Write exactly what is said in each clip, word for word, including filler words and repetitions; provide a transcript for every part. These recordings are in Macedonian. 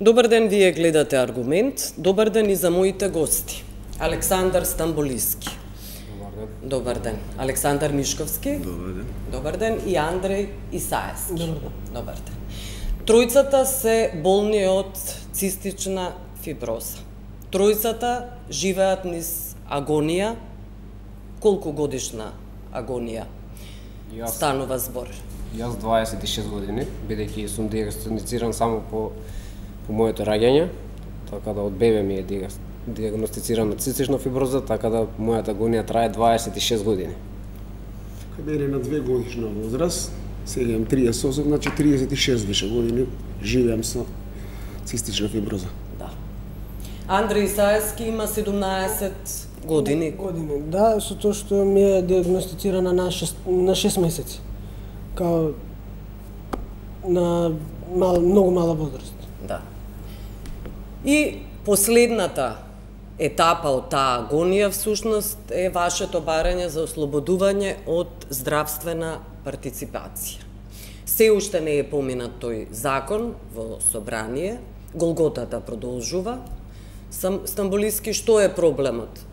Добар ден, вие гледате Аргумент. Добар ден и за моите гости. Александар Стамболиски. Добар ден. Добар ден. Александар Мишковски. Добар ден. Добар ден. И Андреј Исаевски. Добар ден. Добар ден. Тројцата се болни од цистична фиброза. Тројцата живеат низ агонија. Колку годишна агонија Јас, станува збор? јас дваесет и шест години, бидејќи сум диагностициран само по по моето раѓање, така да од бебе ми е диагностицирана цистична фиброза, така да мојата агонија трае дваесет и шест години. Каде е на две годишна возраст, сега имам триесет и осум, значи триесет и шест више години живеам со цистична фиброза. Да. Андреј Исаевски има седумнаесет години. Години, да, со тоа што ми е диагностицирана на шест, на шест месеци. Као на мал, многу мала возраст. Да. И последната етапа од таа агонија всушност е вашето барање за ослободување од здравствена партиципација. Се уште не е поминат тој закон во собрание, голготата продолжува. Стамболиски, што е проблемот?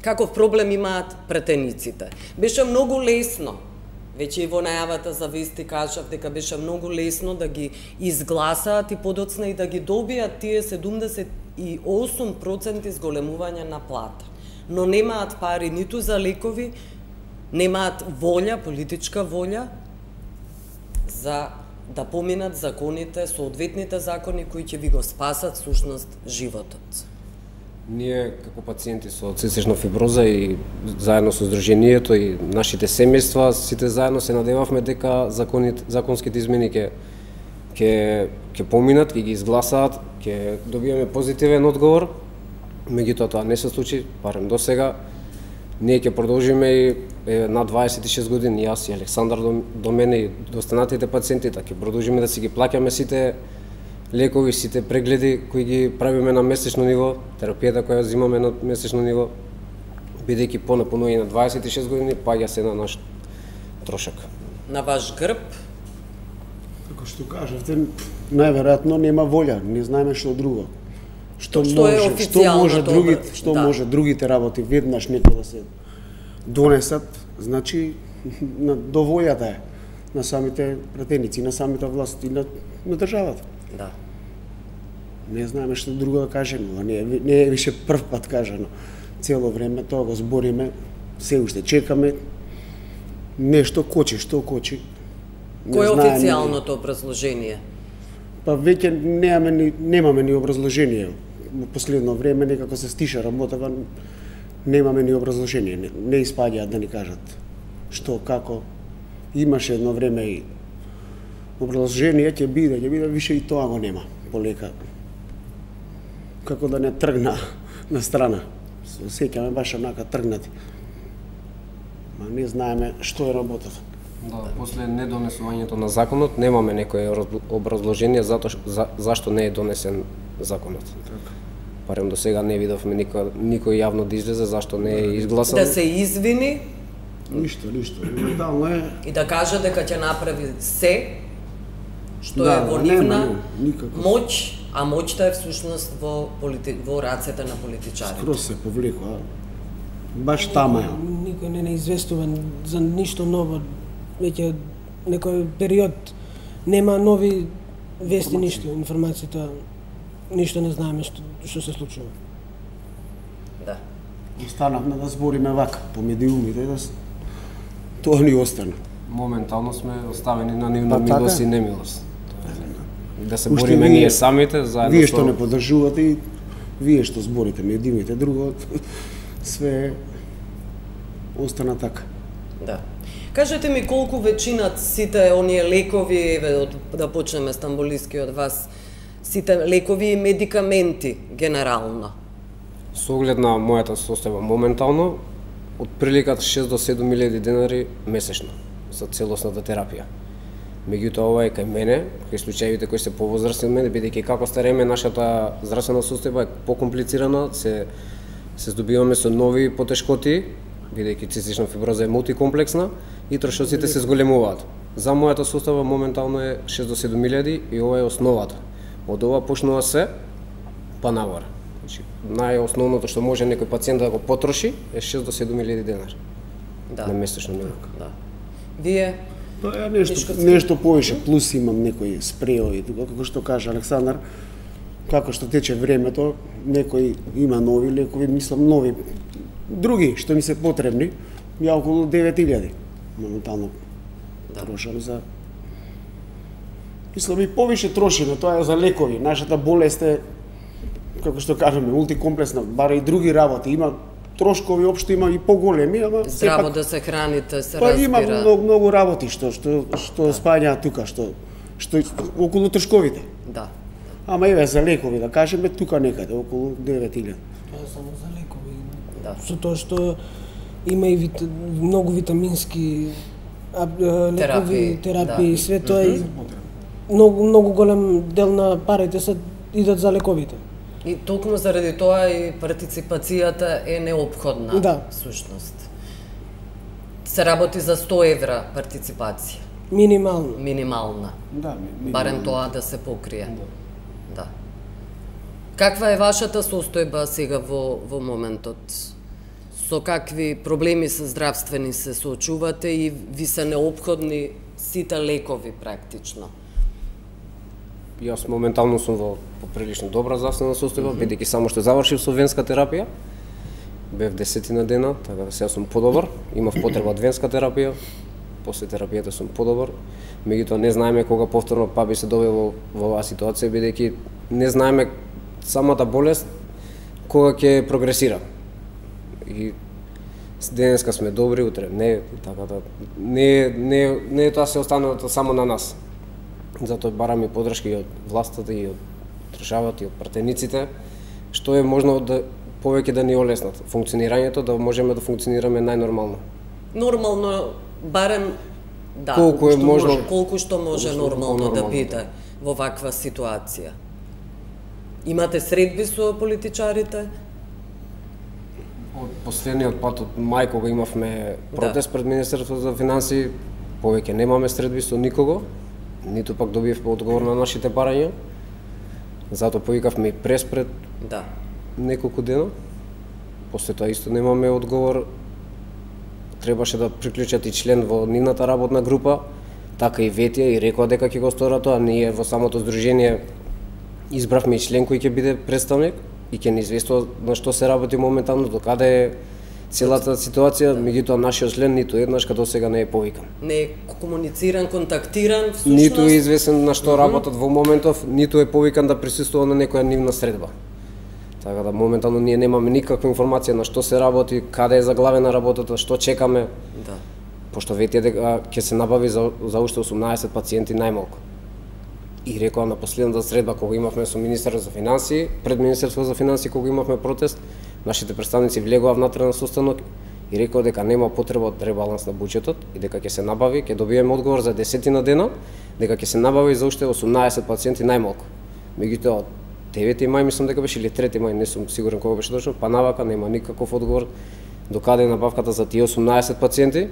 Каков проблем имаат претениците? Беше многу лесно, веќе и во најавата за вести кажав дека беше многу лесно да ги изгласаат и подоцна и да ги добијат тие седумдесет и осум проценти зголемување на плата. Но немаат пари ниту за лекови, немаат волја, политичка волја за да поминат законите, соодветните закони кои ќе ви го спасат всушност животот. Ние како пациенти со цистична фиброза и заедно со Сдруженијето и нашите семејства, сите заедно се надевавме дека законите, законските измени ќе ќе ќе поминат, ќе ги изгласаат, ќе добиеме позитивен одговор. Меѓутоа тоа не се случи, барем до сега. Ние ќе продолжиме и е, на дваесет и шест години, јас и Александар до, до мене и до останатите пациенти, така ќе продолжиме да си ги плаќаме сите лекови, сите прегледи кои ги правиме на месечно ниво, терапијата која взимаме на месечно ниво, бидејќи по напунување на дваесет и шест години паѓа се на наш трошак. На ваш грб? Како што кажавте, најверојатно нема волја, не знаеме што друго. Што, Што е може, што може официјалното, другите, што да. може другите работи веднаш некој да се донесат, значи на до волјата е на самите пратеници, на самите власти, на, на државата. Да. Не знаеме што друго да кажеме, ова не е, не е више прв пат кажано. Цело време тоа го збориме, се уште чекаме, нешто кочи, што кочи. Не Кој е знаеме. официјалното образложение? Па веќе немаме ни, немаме ни образложение. Во последно време некако се стиша работава, немаме ни образложение, не, не испаѓаат да ни кажат што, како. Имаше едно време и образложение ќе биде, ќе биде, више и тоа го нема, полека. Како да не тргна на страна. Се сеќаме баш онака тргнати. Ма не знаеме што е работата. Да, после недонесувањето на законот немаме некое образложение затоа за, зашто не е донесен законот. Така. Барем до сега не видовме никој никој јавно да излезе зашто не е изгласан. Да се извини Ништо, ништо. Моментално е. и да каже дека ќе направи се што Да, е во нема, нивна нема, никако. моќ, а моќта е всушност во полити... во рацете на политичарите. Скроз се повлекува. Баш тама е. Никој не не известува за ништо ново. Веќе некој период нема нови вести, ништо, информацијата, ништо не знаеме што, што се случува. Да. Останавме да збориме вака, по медиумите, да с... тоа ни остана. Моментално сме оставени на нивна Па, така милост е. и немилост. Да се Уште бориме вие- ние самите, заедно Вие со... што не поддржувате и вие што зборите медиумите, друго све остана така. Да. Кажете ми колку веќинат сите оние лекови, еве од, да почнеме Стамболиски од вас, сите лекови и медикаменти генерално. Со оглед на мојата состојба моментално, од приликата шест до седум илјади денари месечно за целосната терапија. Меѓутоа ова е кај мене, кај случаевите кои се повозрасни од мене, бидејќи како стареме нашата здравствена состојба е покомплицирана, се се здобиваме со нови потешкоти, бидејќи цистична фиброза е мултикомплексна и трошоците се зголемуваат. За мојата состојба моментално е шест до седум илјади и ова е основата. Од ова почнува се па нагоре. Значи, најосновното што може некој пациент да го потроши е шест до седум илјади денар. Да. На месечно ниво. Да. Вие Па ја нешто нешто повеќе плюс имам некои спреови, како што кажа Александар, како што тече времето, некои има нови лекови, мислам нови, други што ми се потребни, ја околу девет илјади моментално Да. трошам за. Мислам и повеќе трошиме, тоа е за лекови. Нашата болест е, како што кажаме, мултикомплексна, бара и други работи, има трошкови општо има и поголеми, ама здраво сепак да се храните, се па разбира. има многу, многу работи што што што да. спаѓаат тука, што што околу трошковите. Да. Ама еве за лекови да кажеме тука некаде околу девет илјади. Тоа е само за лекови. Да. Со тоа што има и вит, многу витамински а, лекови, Терапии, терапии, да. све тоа и многу многу голем дел на парите се идат за лековите. И токму заради тоа и партиципацијата е неопходна, Да. всушност. Се работи за сто евра партиципација, Минимално. минимална. Да, ми, Барем тоа да се покрие. Да. Каква е вашата состојба сега во, во моментот? Со какви проблеми се здравствени се соочувате и ви се неопходни сите лекови практично? Јас моментално сум во поприлично добра здравствена состојба, бидејќи само што завршив со венска терапија, бев десетина дена, така да сега сум подобар, имав потреба од венска терапија, после терапијата сум подобар, меѓутоа не знаеме кога повторно па би се довел во, во оваа ситуација, бидејќи не знаеме самата болест кога ќе прогресира. И денеска сме добри, утре не, така да не не не е тоа се останато само на нас. Затоа барам и подршка и од властата и од државата и од пратениците, што е можно да повеќе да ни олеснат функционирањето, да можеме да функционираме најнормално. Нормално, барем, да, Колку е што можно- може, колку што може колку што нормално да нормално, биде во ваква ситуација. Имате средби со политичарите? Од последниот пат од мај кога имавме протест пред Министерството за финансии, повеќе немаме средби со никого, ниту пак добивме одговор на нашите барања. Затоа повикавме и прес пред Да. неколку дена. После тоа исто немаме одговор. Требаше да приклучат и член во нивната работна група, така и ветија и рекоа дека ќе го сторат тоа. Ние во самото здружение избравме и член кој ќе биде представник и ќе ни известува на што се работи моментално, до каде е целата ситуација, меѓутоа нашиот член ниту еднаш като сега не е повикан. Не е комунициран, контактиран, всушност? Ниту е известен на што работат во моментов, ниту е повикан да присуствува на некоја нивна средба. Така да моментално ние немаме никаква информација на што се работи, каде е заглавена работата, што чекаме. Да. Пошто ветија дека ќе се набави за, за уште осумнаесет пациенти најмалку. И рекоа на последната средба кога имавме со министерот за финансии, пред Министерството за финансии кога имавме протест, нашите представници влегоа внатре на состанок и рекоа дека нема потреба од ребаланс на буџетот и дека ќе се набави, ќе добиеме одговор за десетина дена, дека ќе се набави за уште осумнаесет пациенти најмалку. Меѓутоа од девети мај мислам дека беше или трети мај, не сум сигурен кога беше точно, па навака нема никаков одговор до каде е набавката за тие осумнаесет пациенти.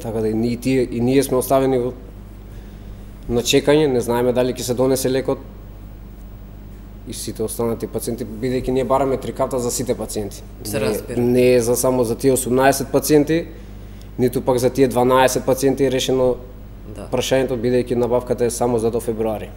Така да и ние, тие, и ние сме оставени во на чекање, не знаеме дали ќе се донесе лекот и сите останати пациенти, бидејќи ние бараме три карта за сите пациенти. Се Не- разбира. Не е за само за тие осумнаесет пациенти, ниту пак за тие дванаесет пациенти е решено Да. прашањето, бидејќи набавката е само за до февруари.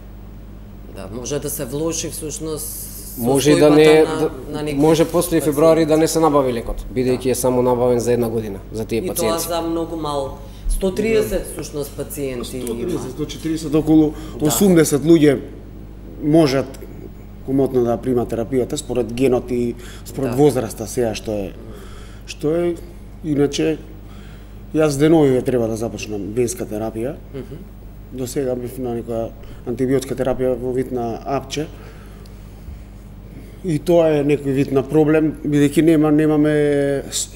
Да, може да се влоши всушност Може и да не е, состојбата да, на, на некои може после пациенти. февруари да не се набави лекот, бидејќи е само набавен за една година за тие И тоа пациенти. за многу мал. сто и триесет всушност пациенти сто има. триесет до четириесет, околу осумдесет луѓе можат комотно да примат терапијата според генот и според Да. возраста сега што е што е иначе јас деновиве треба да започнам венска терапија. До сега бев на некоја антибиотска терапија во вид на апче. И тоа е некој вид на проблем, бидејќи нема немаме с-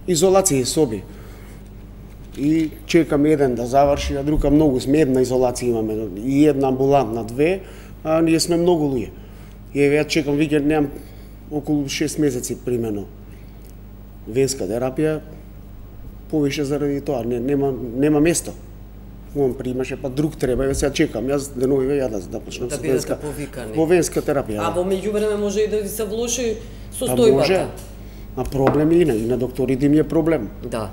изолација и соби. И чекам еден да заврши, а друга многу сме, една изолација имаме, и една амбулантна, две, а ние сме многу луѓе. И еве ја чекам викенд, немам околу шест месеци примено венска терапија, повише заради тоа, не, нема, нема место. он примаше, па друг треба, ја сега чекам, јас деновиве ја да, да почнам да со бидете венска, повикани. во венска терапија. А во меѓувреме може и да ви се влоши Па може, состојбата. а проблем и на, и на докторите им е проблем. Да.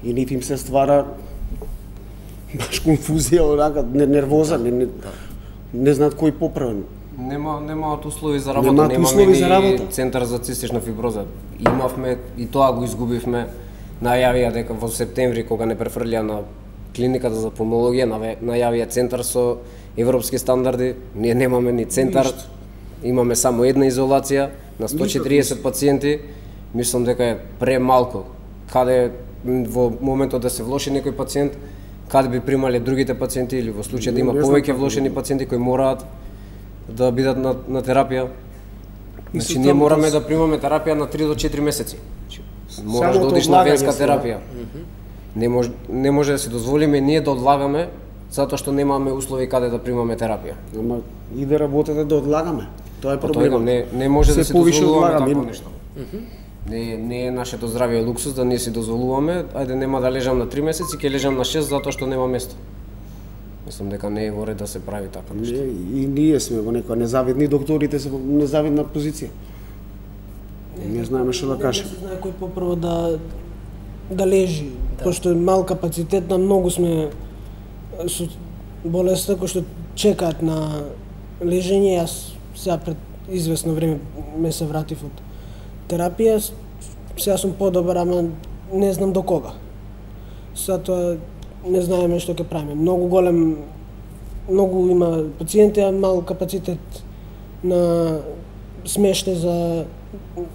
И нити им се ствара баш конфузија, онака, нервоза, не, не, не знаат кој поправен. Нема немаат услови за работа, Немаат немаме услови ни за работа. центар за цистична фиброза. Имавме и тоа го изгубивме. Најавија дека во септември кога не префрлија на клиниката за пулмологија, најавија центар со европски стандарди. Ние немаме ни центар. Ништо. Имаме само една изолација на сто и четириесет пациенти. Мислам дека е премалку. Каде во моментот да се влоши некој пациент, каде би примале другите пациенти или во случај да има повеќе влошени пациенти кои мораат да бидат на, на терапија. Значи ние мораме да примаме терапија на три до четири месеци. Мораш да одиш на венска терапија. Не може не може да си дозволиме ние да одлагаме затоа што немаме услови каде да примаме терапија. Ама иде работата да одлагаме. Тоа е Па проблемот. не не може Се да си повише дозволуваме одлагаме. такво нешто. Не не е нашето здравје луксус да ние си дозволуваме, ајде нема да лежам на три месеци, ќе лежам на шест затоа што нема место. Мислам дека не е во ред да се прави така нешто. Не, и ние сме во некоја незавидни, докторите се во незавидна позиција. Не знаеме што да кажеме. Не се знае кој попрво да да лежи, да. Пошто е мал капацитет, на многу сме со болеста кои што чекаат на лежење. Јас сега пред известно време ме се вратив од терапија, сега сум подобар, ама не знам до кога. Затоа не знаеме што ќе правиме. Многу голем, многу има пациенти, а мал капацитет на смештај за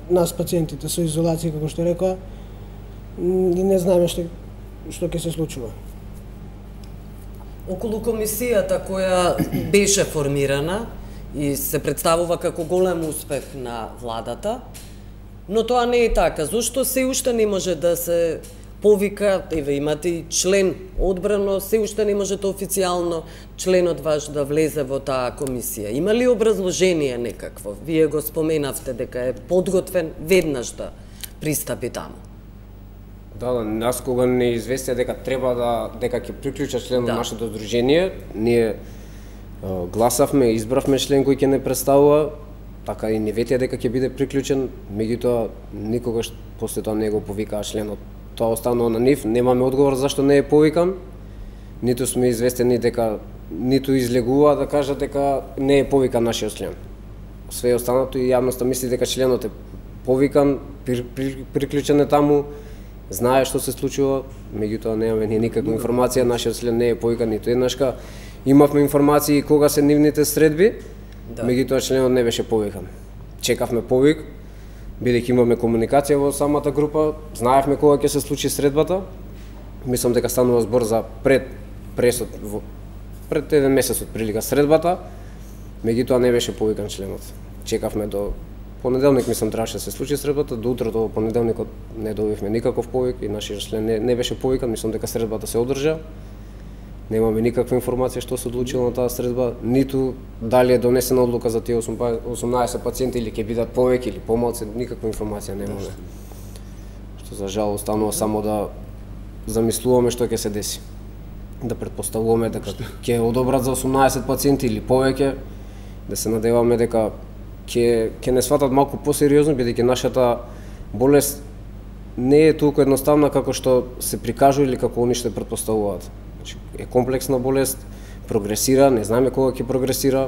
нас пациентите со изолација, како што рекоа, и не знаеме што што ќе се случува. Околу комисијата која беше формирана и се представува како голем успех на владата, но тоа не е така. Зошто се уште не може да се повика, еве имате и член одбрано, се уште не можете официјално членот ваш да влезе во таа комисија? Има ли образложение некакво? Вие го споменавте дека е подготвен веднаш да пристапи таму. Да, да, нас кога не известија дека треба да дека ќе приклучат член на Да. нашето здружение, ние е, гласавме, избравме член кој ќе не представува, така и не ветија дека ќе биде приклучен, меѓутоа никогаш после тоа не го повикаа членот. Тоа останува на нив, немаме одговор зашто не е повикан, ниту сме известени дека ниту излегува да кажат дека не е повикан нашиот член. Све останато и јавноста мисли дека членот е повикан, при, при, приклучен е таму, знае што се случува, меѓутоа немаме ни никаква информација, нашиот член не е повикан ниту еднашка. Имавме информации кога се нивните средби, Да. меѓутоа членот не беше повикан. Чекавме повик, бидејќи имаме комуникација во самата група, знаевме кога ќе се случи средбата. Мислам дека станува збор за пред пресот во пред еден месец од прилика средбата, меѓутоа не беше повикан членот. Чекавме до понеделник, мислам требаше да се случи средбата, до утрото во понеделникот не добивме никаков повик и нашиот член не, не беше повикан, мислам дека средбата се одржа. Немаме никаква информација што се одлучило на таа средба, ниту дали е донесена одлука за тие осумнаесет пациенти или ќе бидат повеќе или помалку, никаква информација немаме. Што за жал останува само да замислуваме што ќе се деси. Да претпоставуваме дека ќе одобрат за осумнаесет пациенти или повеќе, да се надеваме дека ќе ќе не сватат малку посериозно, бидејќи нашата болест не е толку едноставна како што се прикажува или како они што претпоставуваат. Значи, е комплексна болест, прогресира, не знаеме кога ќе прогресира.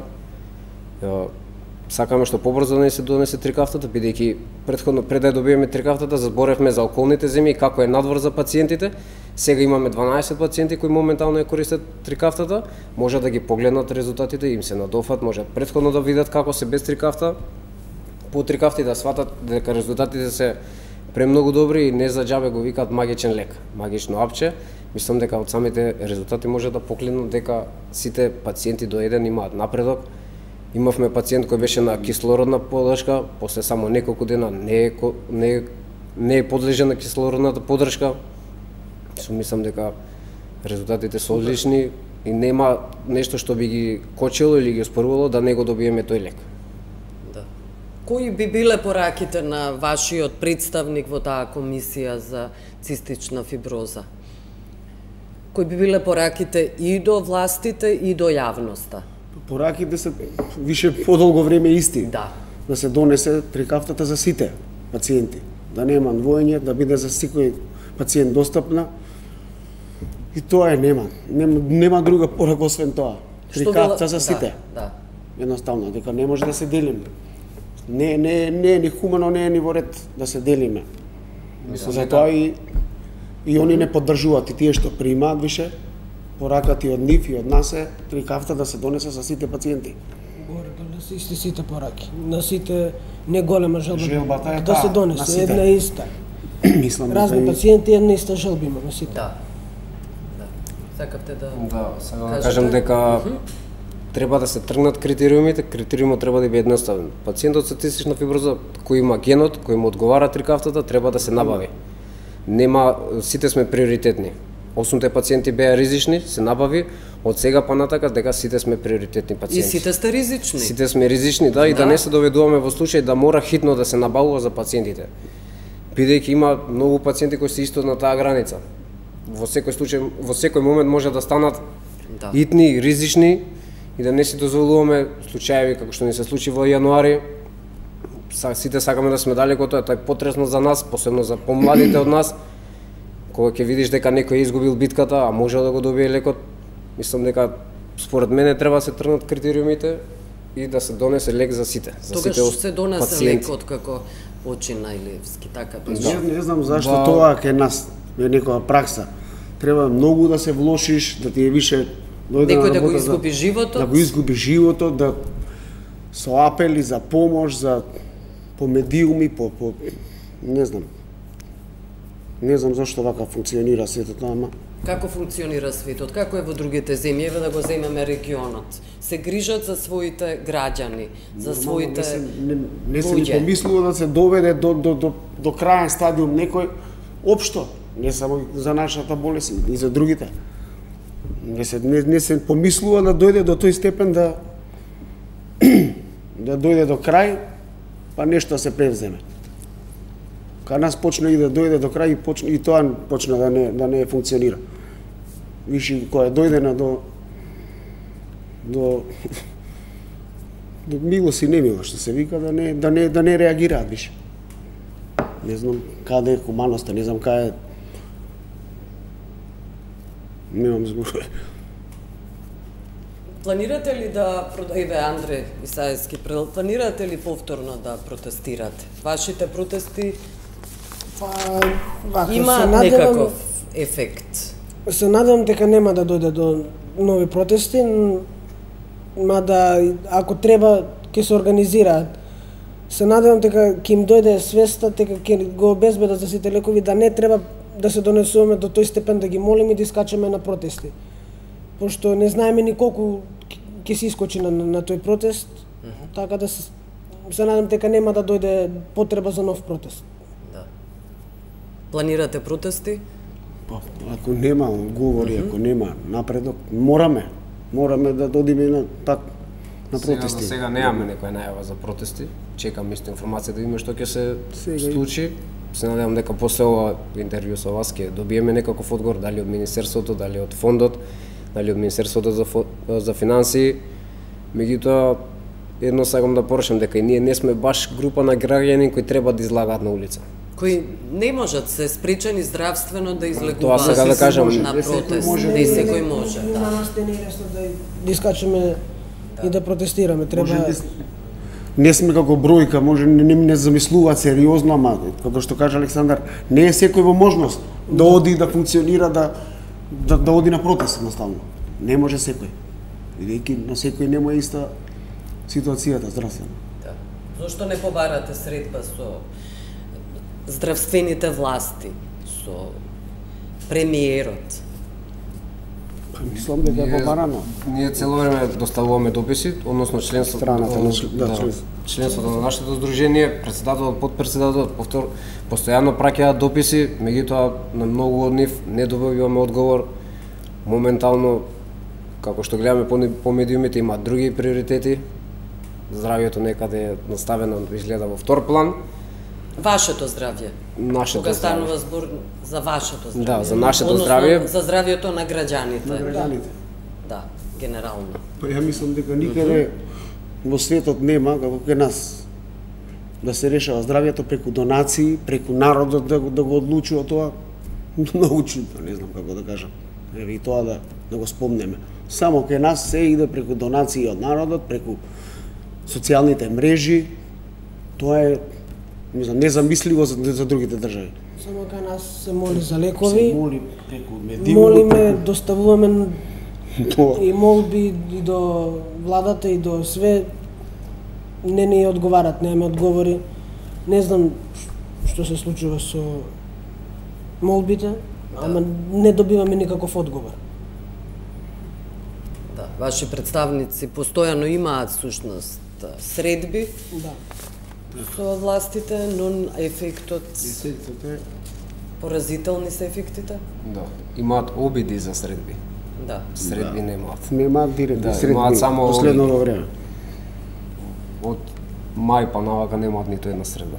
Сакаме што побрзо да не се донесе трикафтата, бидејќи претходно пред да добиеме трикафтата заборевме за околните земји како е надвор за пациентите. Сега имаме дванаесет пациенти кои моментално ја користат трикафтата, може да ги погледнат резултатите, им се надофат, може претходно да видат како се без трикафта, по трикафти да сватат дека резултатите се премногу добри и не за џабе го викаат магичен лек, магично апче. Мислам дека од самите резултати може да поклинат дека сите пациенти до еден имаат напредок. Имавме пациент кој беше на кислородна поддршка, после само неколку дена не е, не е, не е подлежен на кислородната поддршка. Мислам дека резултатите се одлични и нема нешто што би ги кочело или ги оспорувало да не го добиеме тој лек. Да. Кои би биле пораките на вашиот представник во таа комисија за цистична фиброза? Кои би биле пораките и до властите и до јавноста? Пораките се више подолго време исти. Да. Да се донесе трикафтата за сите пациенти. Да нема двоење, да биде за секој пациент достапна. И тоа е, нема. Нема, нема друга порака освен тоа. Трикафта за сите. Да, да. Едноставно, дека не може да се делиме. Не, не, не е ни хумано, не е ни во ред да се делиме. Мислам, затоа и и они не поддржуваат, и тие што примаат више, поракат и од нив и од нас е трикафта да се донесе за сите пациенти. Горе да се исти сите пораки. На сите не голема желба. Желбата е да таа, се на донесе сите. една иста. Мислам, Разни дека и- пациенти една иста желба има на сите. Да. Да. Сакавте да... Да, сега да Кажете. кажем дека треба да се тргнат критериумите, критериумот треба да биде едноставен. Пациентот со цистична фиброза кој има генот, кој му одговара трикафтата, треба да се набави. Нема, сите сме приоритетни. Осумте пациенти беа ризични, се набави, од сега па натака дека сите сме приоритетни И пациенти. сите сте ризични. Сите сме ризични, да, и да Да. не се доведуваме во случај да мора хитно да се набавува за пациентите. Бидејќи има многу пациенти кои се исто на таа граница. Во секој случај, во секој момент може да станат Да. итни, ризични и да не си дозволуваме случаеви како што ни се случи во јануари. Са, сите сакаме да сме далеко тоа, тоа е потресно за нас, посебно за помладите од нас. Кога ќе видиш дека некој е изгубил битката, а може да го добие лекот, мислам дека според мене треба да се тргнат критериумите и да се донесе лек за сите, за Тогаш сите се донесе пациенти. лекот како почина или скитака. Не, не знам зашто Да. тоа кај нас е некоја пракса. Треба многу да се влошиш, да ти е више дојде Некој на да го работа, изгуби животот. Да го изгуби животот, да со апели за помош, за по медиуми, по, по не знам. Не знам зашто вака функционира сето тоа, ама Како функционира светот? Како е во другите земји? Еве да го земеме регионот. Се грижат за своите граѓани, за своите не се, не, не се ни луѓе. помислува да се доведе до, до, до, до краен стадиум некој општо, не само за нашата болест, и за другите. Не се, не, не се помислува да дојде до тој степен да да дојде до крај, па нешто се превземе. Кај нас почна и да дојде до крај и, почна, и тоа почна да не, да не функционира. Виши, која дојде до до до милост и немилост, што се вика, да не да не да не реагираат више. Не знам каде е хуманоста, не знам каде е. Немам збор. Планирате ли да, еве Андре Исаевски, планирате ли повторно да протестирате? Вашите протести Па, вака, се имаат надевам- некаков ефект. Се надевам дека нема да дојде до нови протести, н- мада ако треба ќе се организираат. Се надевам дека ќе им дојде свеста, дека ќе го обезбедат за сите лекови, да не треба да се донесуваме до тој степен да ги молиме и да искачаме на протести. Пошто не знаеме ни колку ќе- ќе се искочи на, на, на тој протест, така да се, се надевам дека нема да дојде потреба за нов протест. Да. Планирате протести? Па, ако нема говори, ако нема напредок, мораме, мораме да додиме на так на Сега, протести. за сега немаме некоја најава за протести. Чекам исто информација да видиме што ќе се Сега- случи. Се надевам дека после ова интервју со вас ќе добиеме некаков одговор, дали од Министерството, дали од фондот, дали од Министерството за, фо, за финансии. Меѓутоа, едно сакам да порашам дека и ние не сме баш група на граѓани кои треба да излагаат на улица. Кои не можат, се спречени здравствено да Тоа излегуваат сега да кажам, на не секој протест. може Не да- секој може, На да. нас не е лесно да, да искачаме и да протестираме. Треба Може да- не сме како бројка, може не, не, не замислуваат сериозно, ама како што кажа Александар, не е секој во можност да оди да функционира, да да, да оди на протест едноставно. Не може секој. Бидејќи на секој не му е иста ситуацијата здравствена. Да. Зошто не побарате средба со здравствените власти, со премиерот? Па, мислам дека е побарано. Ние цело време доставуваме дописи, односно членството, Страната на член- да, да, членство. членството на нашето здружение, председателот, подпредседателот, повтор, постојано праќаат дописи, меѓутоа на многу од нив не добиваме одговор. Моментално, како што гледаме по, по медиумите, има други приоритети. Здравјето некаде е наставено изгледа во втор план. Вашето здравје. Нашето Кога здравје. станува збор за вашето здравје. Да, за нашето Односно, здравје. За здравјето на граѓаните. На граѓаните. Да, генерално. Па ја мислам дека никаде во светот нема како кај нас да се решава здравјето преку донации, преку народот да, го- да го одлучува тоа. Многу чудно, не знам како да кажам. Еве и тоа да да го спомнеме. Само кај нас се иде преку донации од народот, преку социјалните мрежи. Тоа е не знам, незамисливо за, за другите држави. Само кај нас се моли за Се лекови, моли преку медиумот, молиме, доставуваме тоа. и молби и до владата и до све, не ни одговарат, немаме одговори. Не знам што се случува со молбите, ама не добиваме никаков одговор. Да, ваши представници постојано имаат сушност средби Да. со властите, но ефектот, Ефектот е поразителни се ефектите. Да. Имаат обиди за средби. Да. Средби немаат. немаат директни Да, средби имаат само последното време. Од мај па навака немаат ниту една средба.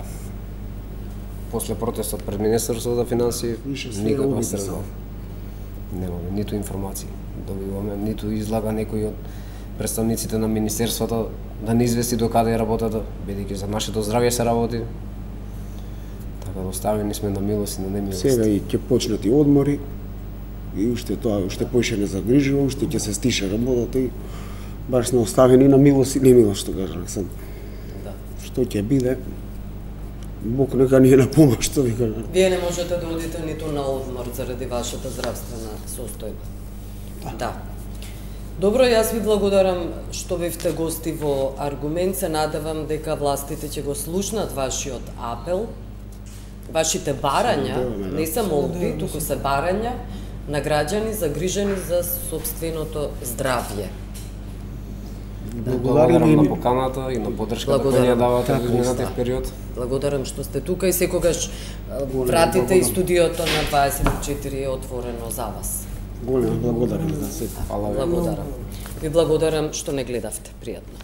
После протестот пред Министерството за финансии, Више све никаква обиди средба. само. Немаме ниту информации. Добиваме ниту излага некој од представниците на министерствата да не извести до каде е работата, бидејќи за нашето здравје се работи. Така да оставени сме на милост и на немилост. Сега и ќе почнат и одмори, и уште тоа, уште поише не загрижува, уште ќе се стиша работата и баш сме оставени на милост и немилост, што кажа Александр. Да. Што ќе биде, Бог нека ни е на помош, што ви кажа. Вие не можете да одите ниту на одмор заради вашата здравствена состојба. Да. Добро, јас ви благодарам што бевте гости во Аргумент. Се надевам дека властите ќе го слушнат вашиот апел, вашите барања, надеваме, да. не се молби, туку се барања на граѓани загрижени за собственото здравје. Благодарам Благодариме на и поканата и на подршката која Благодарам. ја давате Така, во изминатиот да. период. Благодарам што сте тука и секогаш а, вратите и благодарам. студиото на дваесет и четири е отворено за вас. голема благодарам за се. Фала ви. Благодарам. Ви благодарам што не гледавте. Пријатно.